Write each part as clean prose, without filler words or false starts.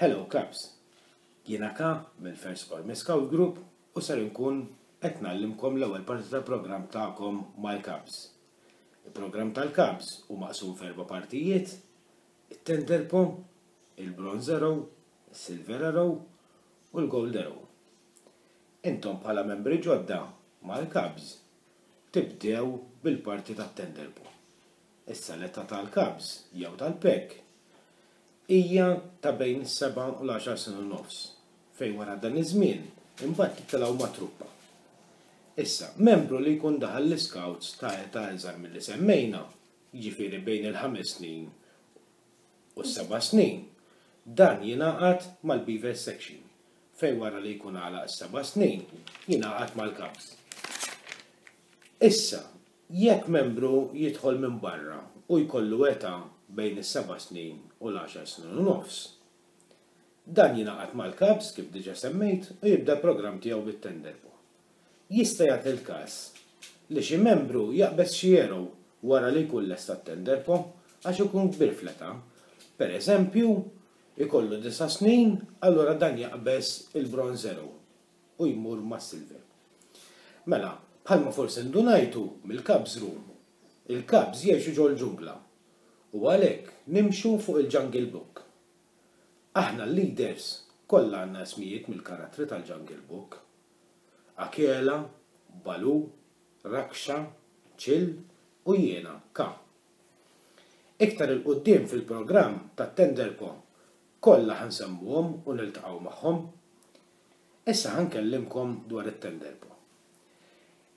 Hello Cubs! Jiena Ka mill-First Army Scout Group u ser inkun qed ngħallimkom l-ewwel parti tal-programm tagħkom mal-Cubs. Il-programm tal-Cubs hu maqsum f'erba' partijiet, it-Tender Paw, il-Bronze Arrow, is-Silver Arrow u l-Gold Arrow. Intom bħala membri ġodda mal-Cubs tibdew bil-parti tat-Tender Paw. Issa l-età tal-Cubs jew tal-Pack hija ta' bejn is-seba' u l-għaxar snin u nofs, fejn wara dan iż-żmien imbagħad titilgħu mat-truppa. Issa, membru li jkun daħal l-Iscouts ta' età iżgħar milli semmejna, jiġifieri bejn il-ħames snin u s-seba' snin, dan jingħaqad mal-Beaver Section, fejn wara li jkun għalaq is-seba' snin jingħaqad mal-Cubs. Issa, Jekk membru jidħol minn barra u jkollu età bejn is-seba' snin u l-għaxar snin u nofs, dan jingħaqad mal-Cubs, kif diġà semmejt, u jibda l-programm tiegħu bit-Tenderpaw. Jista' jagħti l-każ li xi membru jaqbeż xi arrow wara li jkun lesta t-Tenderpaw għax ikun kbir fl-età. Per eżempju, ikollu disa' snin, allura dan jaqbeż il-Bronze Arrow u jmur mas-Silver. Mela, bħalma forsi ndunajtu mill-Cubs Room, il-Cubs jgħixu ġol-ġungla u għalhekk nimxu fuq il-Jungle Book. Aħna l-leaders kollha għandna ismijiet mill-karattri tal-Jungle Book. Akela, Baloo, Raksha, Chill u jiena, Ka. Iktar 'il quddiem fil-programm tat-Tenderpo kollha ħa nsemmuhom u niltaqgħu magħhom. Issa ħa nkellimkom dwar it-Tenderpo.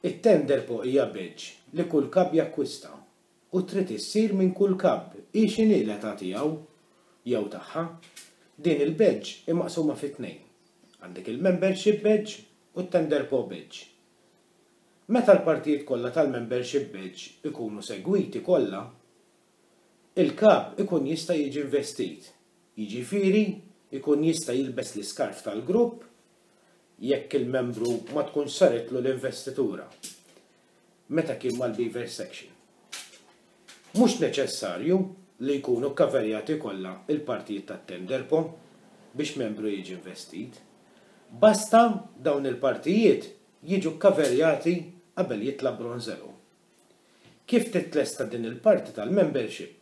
It-Tenderpo hija badge li kull cub jakkwista u trid issir minn kull cub hi x'inhi l-età tiegħu jew tagħha. Din il-badge hi maqsuma fi tnejn. Għandek il-Membership Badge u t-Tenderpo Badge. Meta l-partijiet kollha tal-Membership Badge ikunu segwiti kollha, il-cub ikun jista' jiġi investit Jiġifieri jkun jista' jilbes l-iskarf tal-grupp jekk il-membru ma tkunx saritlu l-investitura meta kien mal-Beaver Section. Mhux neċessarju li jkunu kkaverjati kollha l-partijiet tat-Tenderpo biex membru jiġi investit. Basta dawn il-partijiet jiġu kkaverjati qabel jitla' Bronzero. Kif titlesta din il-parti tal-membership,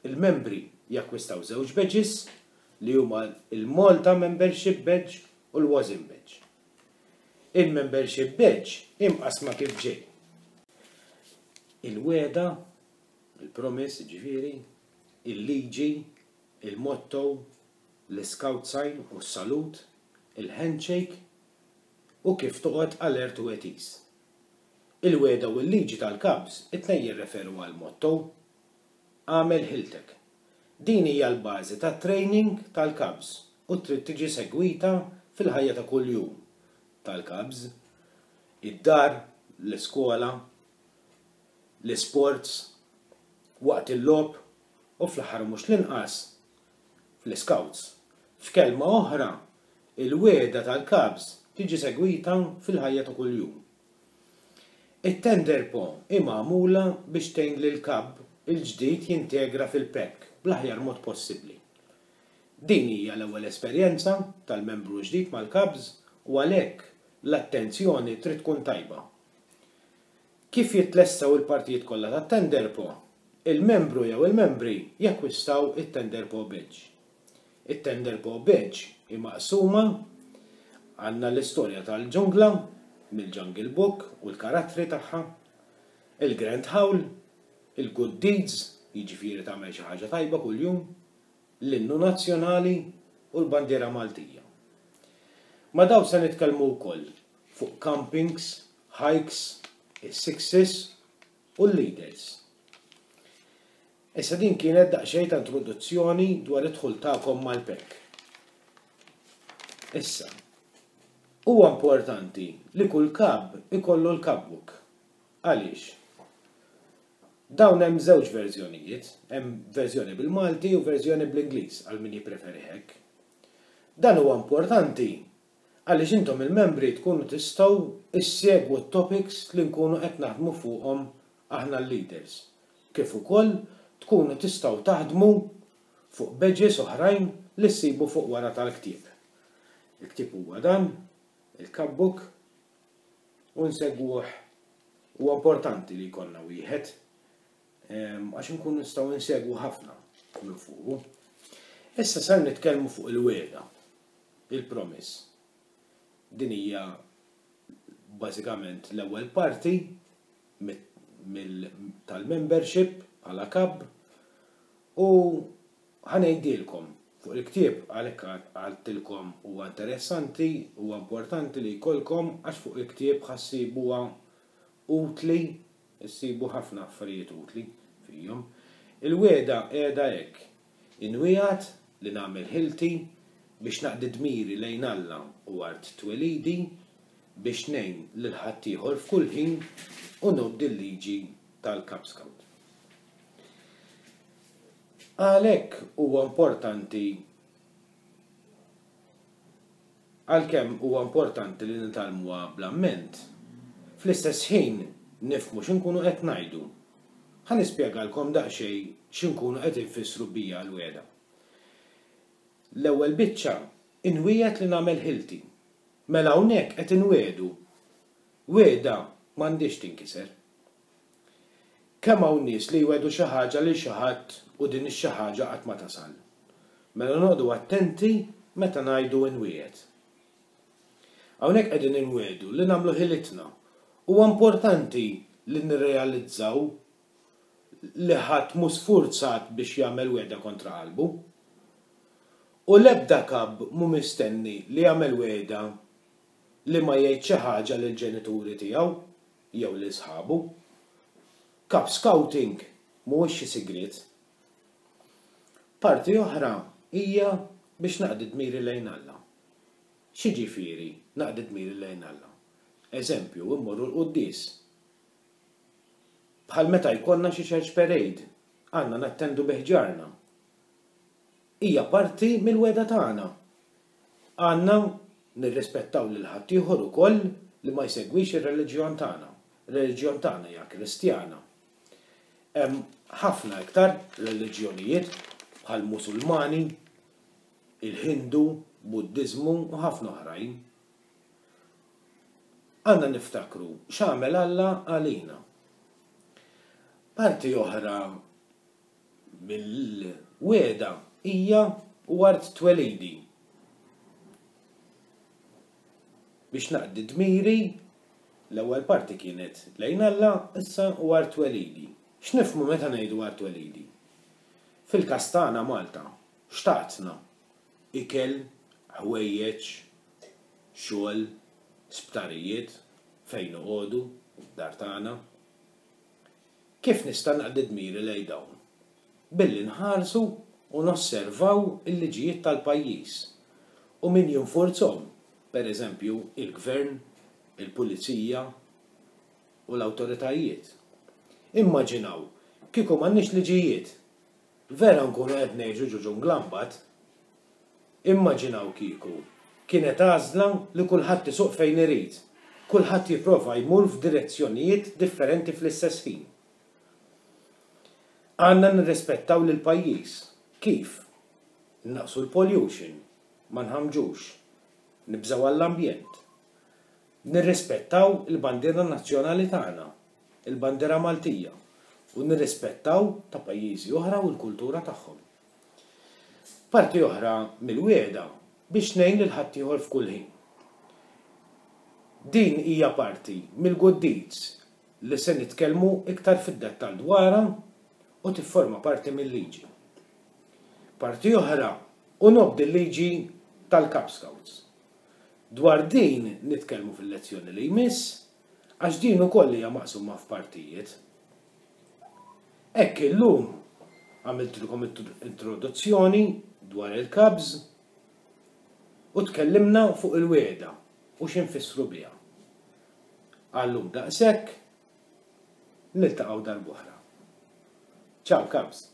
il-membri jakkwistaw żewġ badges li huma l-Malta Membership Badge u l-WASM Badge. Il-Membership Badge hi mqassma kif ġej. Il-wegħda, il-promise jiġifieri, il-liġi, il-motto, l-iscout sign u s-salut, il-handshake u kif toqgħod alert u at ease. Il-wegħda u l-liġi tal-Cubs it-tnejn jirreferu għall-motto, Agħmel ħiltek. Din hija l-bażi tat-training tal-Cubs u trid tiġi segwita fil-ħajja ta' kuljum tal-Cubs, id-dar, l-iskola, l-isports, waqt il-logħob u fl-aħħar u mhux l-inqas, fl-Iscouts. F'kelma oħra, il-wegħda tal-Cubs tiġi segwita fil-ħajja ta' kuljum. It-tender paw hi magħmula biex tgħin lill-cub il-ġdid jintegra fil-pack bl-aħjar mod possibbli. Din hija l-ewwel esperjenza tal-membru l-ġdid mal-cubs u għalhekk l-attenzjoni trid tkun tajba. Kif jitlestew il-partijiet kollha tat-tender paw, il-membru jew il-membri jakkwistaw it-tender paw badge. It-Tender Paw Badge hi maqsuma, għandna l-istorja tal-ġungla mill-Jungle Book u l-karattri tagħha, il-Grand Howl, il-Good Deeds, jiġifieri tagħmel xi ħaġa tajba kuljum, l-Innu Nazzjonali u l-Bandiera Maltija. Ma' dawn se nitkellmu wkoll fuq campings, hikes, is-sixes u l-leaders. Issa din kienet daqsxejn ta' introduzzjoni dwar id-dħul tagħkom mal-PEC. Issa, huwa importanti li kull kab ikollu l-cupbook. Għaliex? Dawn hemm żewġ verżjonijiet, hemm verżjoni bil-Malti u verżjoni bl-Ingliż għal min jippreferi hekk. Dan huwa importanti għaliex intom il-membri tkunu tistgħu issegwu t-topics li nkunu qed naħdmu fuqhom aħna l-leaders, kif ukoll tkunu tistgħu taħdmu fuq badges oħrajn li ssibu fuq wara tal-ktieb. Il-ktieb huwa dan, il-Cub Book, u nsegwuh. Huwa importanti li jkollna wieħed għax inkunu nistgħu nsegwu ħafna minn fuqu. Issa ser nitkellmu fuq il-wegħda, il-promise. Din hija bażikament l-ewwel parti tal-membership bħala kab u ħa ngħidilkom fuq il-ktieb għalhekk għadtilkom huwa interessanti, huwa importanti li jkollkom għax fuq il-ktieb ħa ssibuha utli, issibu ħafna affarijiet utli fihom. Il-wegħda qiegħda hekk, Inwiegħed li nagħmel ħilti biex naqdi dmiri lejn Alla u art twelidi, biex ngħin lil ħaddieħor f'kull ħin u nobdi l-liġi tal-Cub Scout. Għalhekk huwa importanti Għalkemm huwa importanti li nitgħallmuha bl-amment, fl-istess ħin nifhmu xi nkunu qed ngħidu. Ħa nispjegalkom daqsxejn xi nkunu qed infissru bija l-wegħda. L-ewwel biċċa, inwiegħed li nagħmel ħilti. Mela hawnhekk qed inwiegħdu. Wiegħda m'għandhiex tinkiser. Kemm hawn nies li jwegħdu xi ħaġa lil xi ħadd u din ix-xi ħaġa qatt ma tasal. Mela noqogħdu attenti meta ngħidu inwiegħed. Hawnhekk qegħdin inwiegħdu li nagħmlu ħilitna. Huwa importanti li nirrealizzaw li ħadd mhu sfurzat biex jagħmel wegħda kontra qalbu. U l-ebda kab mhu mistenni li jagħmel wegħda li ma jgħid xi ħaġa lill-ġenituri tiegħu jew lil sħabu. Cub Scouting mhuwiex xi sigriet. Parti oħra hija biex naqdi dmiri lejn Alla. X'jiġifieri naqdi dmiri lejn Alla? Eżempju, immorru l-quddies. Bħal meta jkollna xi church parade, għandna nattendu bi ħġarna. Hija parti mill-wegħda tagħna. Għandna nirrispettaw lil ħaddieħor ukoll li ma jsegwix ir-reliġjon tagħna. Ir-reliġjon tagħna hija Kristjana. Hemm ħafna iktar reliġjonijiet bħal Musulmani, il-Ħindu, Buddiżmu u ħafna oħrajn. Għandna niftakru x'għamel Alla għalina. Parti oħra Mill-wegħda hija u art twelidi. Biex naqdi dmiri, l-ewwel parti kienet lejn Alla, issa u art twelidi. X'nifhmu meta ngħidu art twelidi? Fil-każ tagħna Malta, x'tatna? Ikel, ħwejjeġ, xogħol, sptarijiet, fejn noqogħdu, dar tagħna. Kif nista' naqdi dmiri lejn dawn? Billi nħarsu u nosservaw il-liġijiet tal-pajjiż u min jinfurzhom, per eżempju, il-gvern, il-pulizija u l-awtoritajiet. Immaġinaw kieku m'għandniex liġijiet! Vera nkunu qed ngħixu ġo ġungla mbagħad. Immaġinaw kieku kienet għażla li kulħadd isuq fejn irid, kulħadd jipprova jmur f'direzzjonijiet differenti fl-istess ħin. Għandna nirrispettaw lill-pajjiż. Kif? Innaqqsu l-pollution, ma nħammġux, nibżgħu għall-ambjent. Nirrispettaw il-bandiera nazzjonali tagħna, il-bandiera Maltija, u nirrispettaw ta' pajjiżi oħra u l-kultura tagħhom. Parti oħra mill-wiegħda biex ngħin lil ħaddieħor f'kull ħin. Din hija parti mill-good deeds li se nitkellmu iktar fid-dettall dwarha u tifforma parti mil-liġi. Parti oħra u nobdi l-liġi tal-Cub Scouts. Dwar din nitkellmu fil-lezzjoni li jmiss għax din ukoll hija maqsuma f'partijiet. Hekk illum għamiltilkom introduzzjoni dwar il-Cubs u tkellimna fuq il-wegħda u x'infissru biha. Għal-lum daqshekk, niltaqgħu darb'oħra. Ciao Cubs!